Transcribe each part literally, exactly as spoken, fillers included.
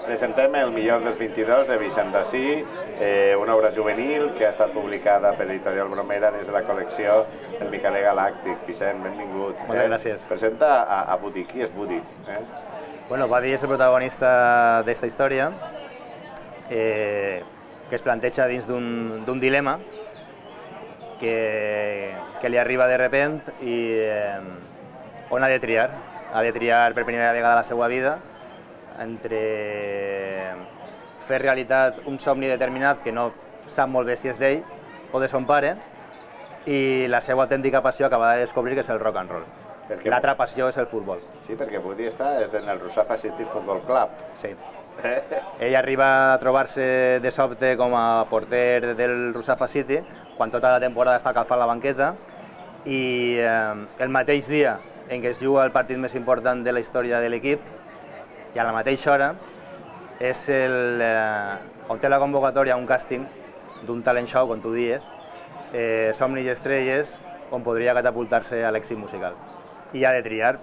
Presentem El millor dels vint-i-dos de Vicent Dací, una obra juvenil que ha estat publicada per Editorial Bromera des de la col·lecció El Micaler Galàctic. Vicent, benvingut. Moltes gràcies. Presenta a Budi. Qui és Budi? Bueno, Budi és el protagonista d'esta història, que es planteja dins d'un dilema que li arriba de repent i on ha de triar. Ha de triar per primera vegada a la seva vida entre fer realitat un somni determinat que no sap molt bé si és d'ell o de son pare i la seva autèntica passió acaba de descobrir que és el rock and roll. L'altra passió és el futbol. Sí, perquè Budi està en el Russafa City Football Club. Sí. Ell arriba a trobar-se de sobte com a porter del Russafa City quan tota la temporada està calfant la banqueta i el mateix dia en què es juga el partit més important de la història de l'equip i a la mateixa hora és el, on té la convocatòria un càsting d'un talent show, com tu dies, Somnis i estrelles, on podria catapultar-se a l'èxit musical. I ha de triar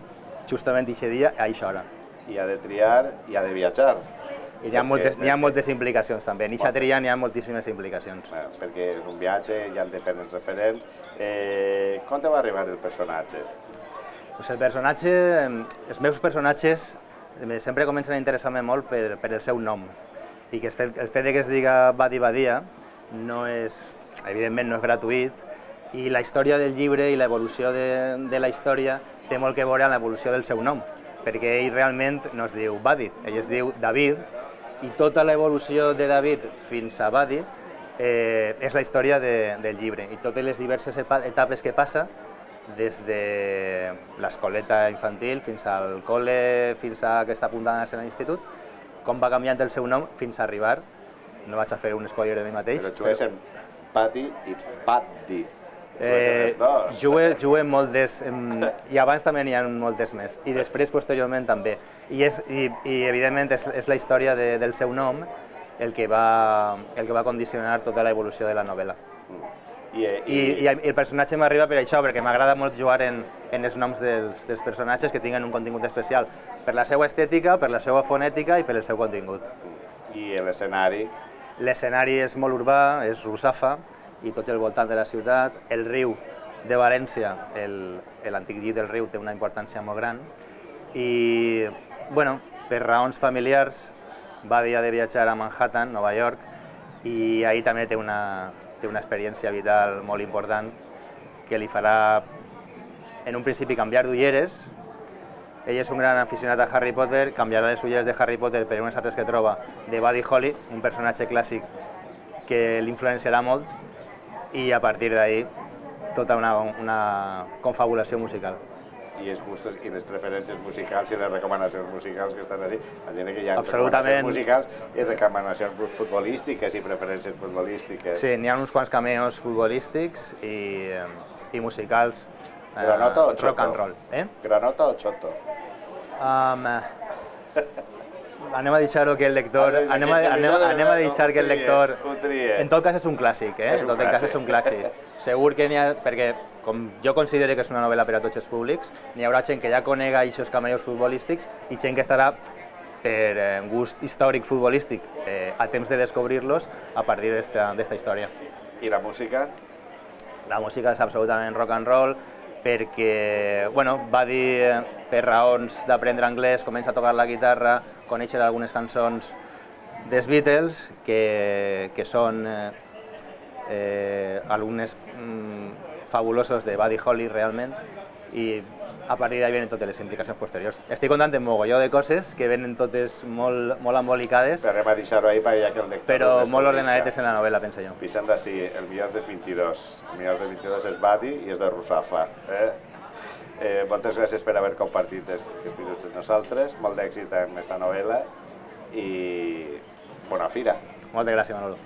justament aquest dia a aquesta hora. I ha de triar i ha de viatjar. I n'hi ha, moltes, ha moltes implicacions també, en aquesta tria n'hi ha moltíssimes implicacions. Perquè és un viatge, hi han diferents referents. Eh, com te va arribar el personatge? Pues el personatge, els meus personatges sempre comencen a interessar-me molt per, per el seu nom i que el fet, el fet que es diga Badi Badia no és, evidentment no és gratuït i la història del llibre i l'evolució de, de la història té molt que veure amb l'evolució del seu nom perquè ell realment no es diu Badi, ell es diu David i tota l'evolució de David fins a Badi eh, és la història de, del llibre i totes les diverses etapes que passa des de l'escoleta infantil fins al col·le, fins a que està apuntant a ser a l'institut, com va canviant el seu nom fins a arribar, no vaig a fer un spoiler de mi mateix. Però juguessin Pati i Patti, juguessin els dos. Juguem moltes, i abans també n'hi ha moltes més, i després, posteriorment, també. I evidentment és la història del seu nom el que va condicionar tota l'evolució de la novel·la. I el personatge m'arriba per això, perquè m'agrada molt jugar en els noms dels personatges que tinguen un contingut especial per la seva estètica, per la seva fonètica i per el seu contingut. I l'escenari? L'escenari és molt urbà, és Russafa i tot el voltant de la ciutat. El riu de València, l'antic llit del riu, té una importància molt gran i, bueno, per raons familiars va dir de viatjar a Manhattan, Nova York, i ahir també té una té una experiència vital molt important que li farà, en un principi, canviar d'ulleres. Ell és un gran aficionat a Harry Potter, canviarà les ulleres de Harry Potter per unes altres que troba de Buddy Holly, un personatge clàssic que l'influenciarà molt, i a partir d'ahir tota una confabulació musical. I els gustos i les preferències musicals i les recomanacions musicals que estan així. Imagina que hi ha recomanacions musicals i recomanacions futbolístiques i preferències futbolístiques. Sí, n'hi ha uns quants cameos futbolístics i musicals rock and roll. Granota o Choto? Anem a deixar que el lector... Anem a deixar que el lector... En tot cas és un clàssic, eh? En tot cas és un clàssic. Segur que n'hi ha... Perquè, com jo considero que és una novel·la per a tots els públics, n'hi haurà gent que ja conega aquests cameos futbolístics i gent que estarà per gust històric futbolístic a temps de descobrir-los a partir d'esta història. I la música? La música és absolutament rock and roll perquè, bueno, va dir per raons d'aprendre anglès, comença a tocar la guitarra, conèixer algunes cançons dels Beatles que són alumnes fabulosos de Buddy Holly realment i a partir d'ahí venen totes les implicacions posteriors. Estic contant un mogolló de coses que venen totes molt embolicades, però molt ordenadetes en la novel·la, penso jo. Vicent Dací, El millor dels vint-i-dos. El millor dels vint-i-dos és Buddy i és de Russafa. Moltes gràcies per haver compartit els minuts amb nosaltres, molt d'èxit en aquesta novel·la i bona fira. Moltes gràcies, Manolo.